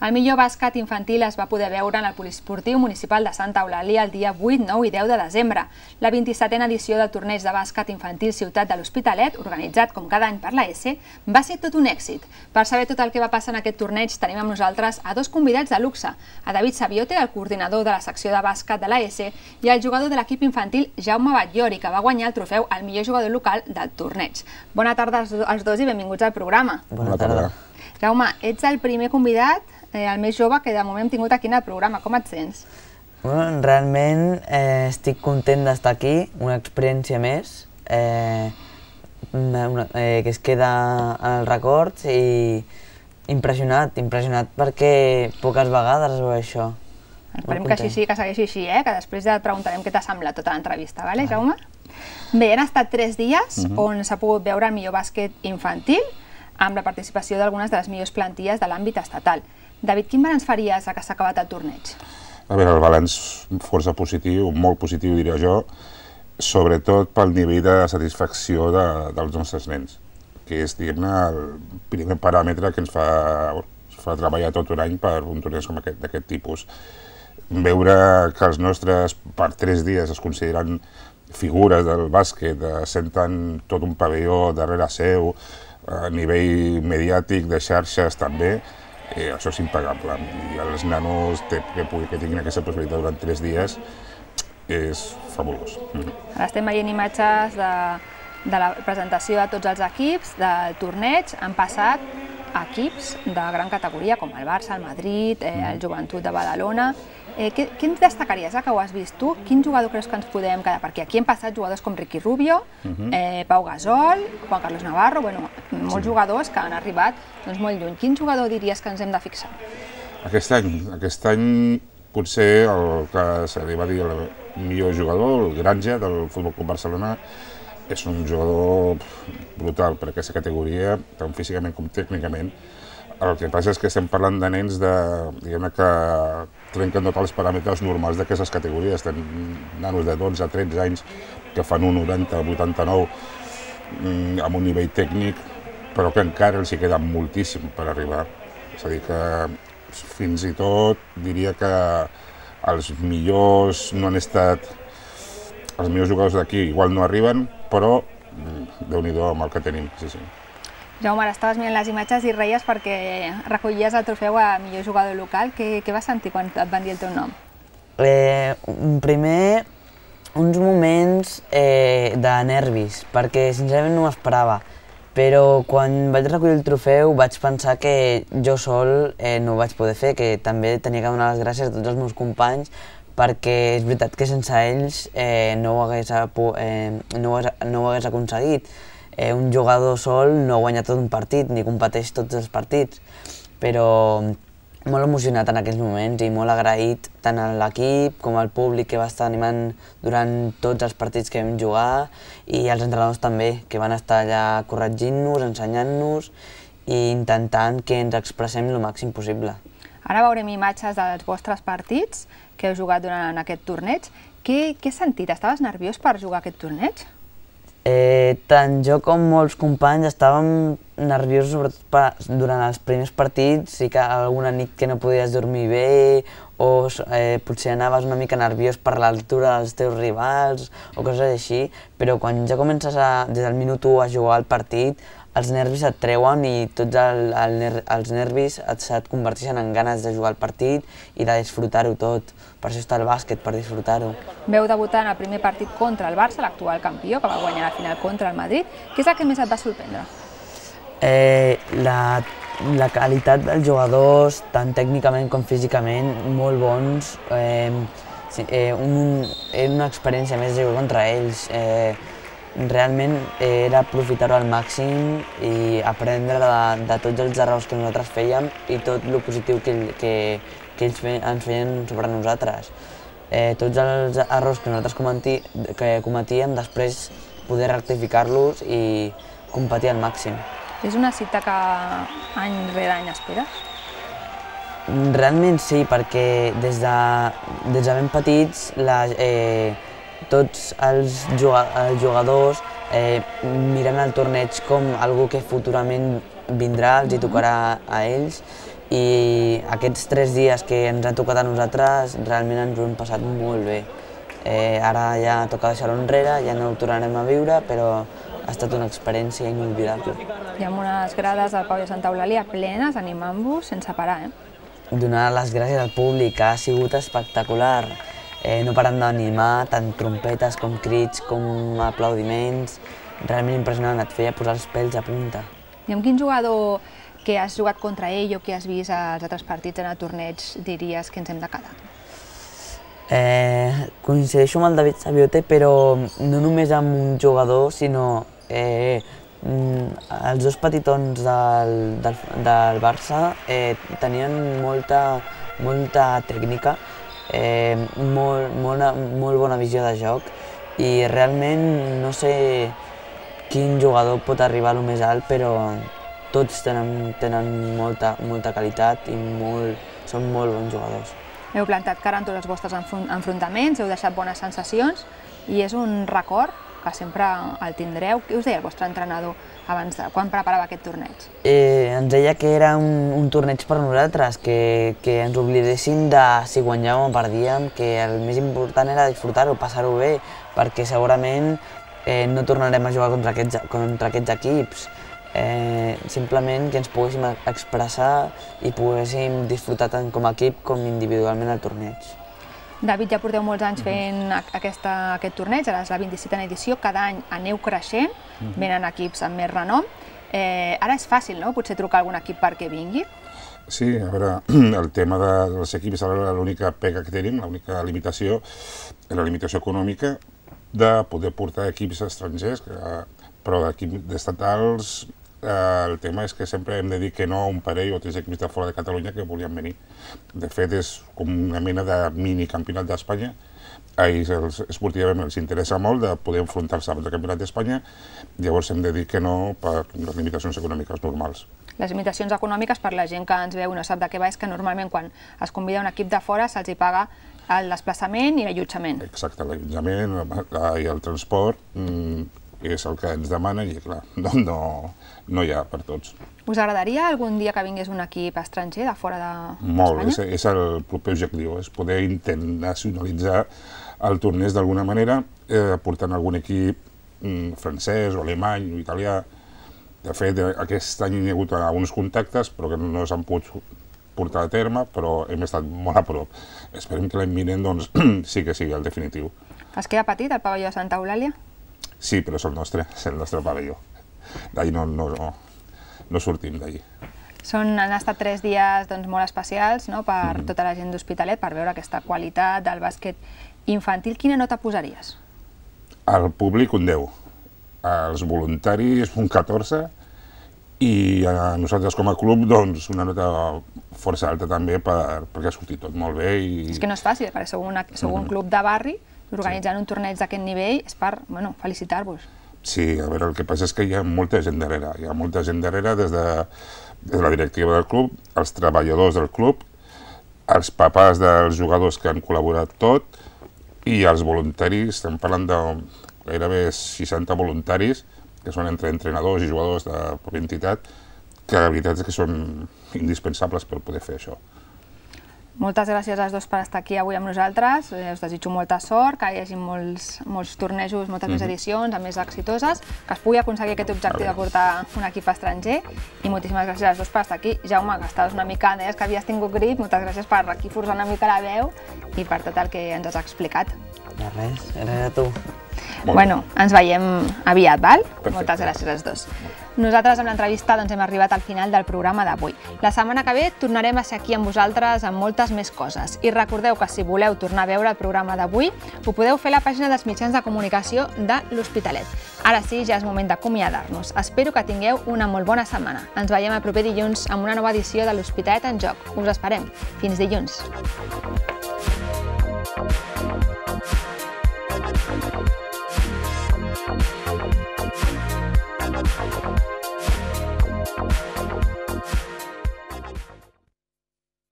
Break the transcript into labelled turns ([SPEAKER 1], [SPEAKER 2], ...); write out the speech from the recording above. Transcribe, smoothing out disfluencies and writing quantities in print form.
[SPEAKER 1] El millor bàsquet infantil es va poder veure en el Poliesportiu Municipal de Santa Eulàlia el dia 8, 9 i 10 de desembre. La 27a edició del torneig de bàsquet infantil Ciutat de l'Hospitalet, organitzat com cada any per la ESE, va ser tot un èxit. Per saber tot el que va passar en aquest torneig tenim amb nosaltres a dos convidats de luxe, a David Sabiote, el coordinador de la secció de bàsquet de la ESE, i el jugador de l'equip infantil Jaume Batllori, que va guanyar el trofeu al millor jugador local del torneig. Bona tarda als dos i benvinguts al programa.
[SPEAKER 2] Bona tarda.
[SPEAKER 1] Jaume, ets el primer convidat, el més jove que de moment hem tingut aquí en el programa. Com et sents?
[SPEAKER 2] Realment estic content d'estar aquí, una experiència més, que es queda en els records i impressionat perquè poques vegades es veu això.
[SPEAKER 1] Esperem que així sí, que segueixi així, que després ja et preguntarem què t'ha semblat tota l'entrevista, vale, Jaume? Bé, han estat 3 dies on s'ha pogut veure el millor bàsquet infantil amb la participació d'algunes de les millors plantilles de l'àmbit estatal. David, quin balanç faries que s'ha acabat el torneig?
[SPEAKER 3] A veure, el balanç força positiu, molt positiu diria jo, sobretot pel nivell de satisfacció dels nostres nens, que és, diguem-ne, el primer paràmetre que ens fa treballar tot un any per un torneig com aquest, d'aquest tipus. Veure que els nostres, per 3 dies, es consideren figures del bàsquet, senten tot un pavelló darrere seu, a nivell mediàtic, de xarxes també, això és impagable. I els nanos que tinguin aquesta possibilitat durant 3 dies és fabulós.
[SPEAKER 1] Ara estem veient imatges de la presentació de tots els equips del torneig. Han passat equips de gran categoria com el Barça, el Madrid, el Joventut de Badalona. Què ens destacaries, que ho has vist tu? Quin jugador creus que ens podem quedar? Perquè aquí han passat jugadors com Ricky Rubio, Pau Gasol, Juan Carlos Navarro, molts jugadors que han arribat molt lluny. Quin jugador diries que ens hem de fixar?
[SPEAKER 3] Aquest any potser el que s'arriba a dir el millor jugador, el Granja del Futbol Club Barcelona, és un jugador brutal per aquesta categoria, tant físicament com tècnicament. El que passa és que estem parlant de nens que trenquen tots els paràmetres normals d'aquestes categories. Tenim nanos de 12 a 13 anys que fan un 90, 89 amb un nivell tècnic, però que encara els hi queda moltíssim per arribar. És a dir que fins i tot diria que els millors no han estat... Els millors jugadors d'aquí igual no arriben, però Déu-n'hi-do amb el que tenim, sí.
[SPEAKER 1] Jaume, ara estaves mirant les imatges i reies perquè recollies el trofeu a millor jugador local. Què vas sentir quan et van dir el teu nom?
[SPEAKER 2] Primer, uns moments de nervis, perquè sincerament no m'esperava. Però quan vaig recollir el trofeu vaig pensar que jo sol no ho vaig poder fer, que també tenia que donar les gràcies a tots els meus companys, perquè és veritat que sense ells no ho hagués aconseguit. Un jugador sol no guanya tot un partit, ni competeix tots els partits, però molt emocionat en aquells moments i molt agraït tant a l'equip com al públic que va estar animant durant tots els partits que vam jugar i als entrenadors també, que van estar allà corregint-nos, ensenyant-nos i intentant que ens expressem el màxim possible.
[SPEAKER 1] Ara veurem imatges dels vostres partits que heu jugat durant aquest torneig. Què has sentit? Estaves nerviós per jugar aquest torneig?
[SPEAKER 2] Tant jo com molts companys estàvem nerviosos, sobretot durant els primers partits. Sí que alguna nit que no podies dormir bé o potser anaves una mica nerviós per l'altura dels teus rivals o coses així, però quan ja comences des del minut 1 a jugar al partit, els nervis et treuen i tots els nervis et converteixen en ganes de jugar al partit i de disfrutar-ho tot. Per això està el bàsquet, per disfrutar-ho.
[SPEAKER 1] Veu debutar en el primer partit contra el Barça, l'actual campió, que va guanyar la final contra el Madrid. Què és el que més et va sorprendre?
[SPEAKER 2] La qualitat dels jugadors, tant tècnicament com físicament, molt bons. Era una experiència més de jugar contra ells. Realment era aprofitar-ho al màxim i aprendre de tots els errors que nosaltres fèiem i tot el positiu que ells ens feien sobre nosaltres. Tots els errors que nosaltres cometíem, després poder rectificar-los i competir al màxim.
[SPEAKER 1] És una cita que any rere any esperes?
[SPEAKER 2] Realment sí, perquè des de ben petits tots els jugadors miren el torneig com algo que futurament vindrà, els hi tocarà a ells i aquests 3 dies que ens ha tocat a nosaltres realment ens ho hem passat molt bé. Ara ja toca deixar-ho enrere, ja no ho tornarem a viure, però ha estat una experiència inolvidable.
[SPEAKER 1] Hi ha unes grades del Pau de Santa Eulàlia plenes, animant-vos sense parar.
[SPEAKER 2] Donar les gràcies al públic, ha sigut espectacular. No paren d'animar, tant trompetes com crits, com aplaudiments. Realment impressionant, et feia posar els pèls a punta.
[SPEAKER 1] I amb quin jugador que has jugat contra ell o que has vist als altres partits en el torneig diries que ens hem de quedar?
[SPEAKER 2] Coincideixo amb el David Sabiote, però no només amb un jugador, sinó els dos petitons del Barça tenien molta tècnica, molt bona visió de joc i realment no sé quin jugador pot arribar a lo més alt, però tots tenen molta qualitat i són molt bons jugadors.
[SPEAKER 1] Heu plantat cara en tots els vostres enfrontaments, heu deixat bones sensacions i és un record que sempre el tindreu. Què us deia el vostre entrenador quan preparava aquest torneig?
[SPEAKER 2] Ens deia que era un torneig per nosaltres, que ens oblidéssim de si guanyàvem o perdíem, que el més important era disfrutar-ho, passar-ho bé, perquè segurament no tornarem a jugar contra aquests equips. Simplement que ens poguéssim expressar i poguéssim disfrutar tant com a equip com individualment el torneig.
[SPEAKER 1] David, ja porteu molts anys fent aquest torneig, ara és la 27a edició, cada any aneu creixent, venen equips amb més renom. Ara és fàcil, no?, potser trucar a algun equip perquè vingui?
[SPEAKER 3] Sí, a veure, el tema dels equips és l'única pega que tenim, l'única limitació, la limitació econòmica de poder portar equips estrangers, però d'equips estatals el tema és que sempre hem de dir que no a un parell o 3 equips de fora de Catalunya que volien venir. De fet, és com una mena de mini-campionat d'Espanya. A ells esportivament els interessa molt de poder enfrontar-se amb el campionat d'Espanya, llavors hem de dir que no per les limitacions econòmiques normals.
[SPEAKER 1] Les limitacions econòmiques, per la gent que ens veu i no sap de què va, és que normalment quan es convida un equip de fora se'ls paga el desplaçament i l'allotjament.
[SPEAKER 3] Exacte, l'allotjament i el transport és el que ens demanen i, clar, no hi ha per tots.
[SPEAKER 1] Us agradaria algun dia que vingués un equip estranger de fora d'Espanya?
[SPEAKER 3] Molt, és el proper objectiu, és poder internacionalitzar el torneig d'alguna manera, portant algun equip francès o alemany o italià. De fet, aquest any hi ha hagut alguns contactes, però que no s'han pogut portar a terme, però hem estat molt a prop. Esperem que l'any vinent sí que sigui el definitiu.
[SPEAKER 1] Es queda petit el pavelló de Santa Eulàlia?
[SPEAKER 3] Sí, però és el nostre pavelló. D'ahir no sortim d'ahir.
[SPEAKER 1] Han estat 3 dies molt especials per tota la gent d'Hospitalet, per veure aquesta qualitat del bàsquet infantil. Quina nota posaries?
[SPEAKER 3] Al públic un 10, als voluntaris un 14 i a nosaltres com a club una nota força alta també perquè ha sortit tot molt bé.
[SPEAKER 1] És que no és fàcil, perquè sou un club de barri, organitzant un torneig d'aquest nivell és per felicitar-vos.
[SPEAKER 3] Sí, a veure, el que passa és que hi ha molta gent darrere. Hi ha molta gent darrere des de la directiva del club, els treballadors del club, els papàs dels jugadors que han col·laborat tot i els voluntaris, estem parlant de gairebé 60 voluntaris, que són entre entrenadors i jugadors de la pròpia entitat, que la veritat és que són indispensables per poder fer això.
[SPEAKER 1] Moltes gràcies als dos per estar aquí avui amb nosaltres. Us desitjo molta sort, que hi hagi molts tornejos, moltes més edicions, més exitoses, que es pugui aconseguir aquest objectiu de portar un equip estranger. I moltíssimes gràcies als dos per estar aquí. Jaume, que estaves una mica, deies que havies tingut grip, moltes gràcies per aquí forçar una mica la veu i per tot el que ens has explicat.
[SPEAKER 2] De res, gràcies a tu.
[SPEAKER 1] Bueno, ens veiem aviat, val? Moltes gràcies als dos. Nosaltres amb l'entrevista hem arribat al final del programa d'avui. La setmana que ve tornarem a ser aquí amb vosaltres amb moltes més coses. I recordeu que si voleu tornar a veure el programa d'avui, ho podeu fer a la pàgina dels mitjans de comunicació de l'Hospitalet. Ara sí, ja és moment d'acomiadar-nos. Espero que tingueu una molt bona setmana. Ens veiem el proper dilluns amb una nova edició de l'Hospitalet en Joc. Us esperem. Fins dilluns. Thank you.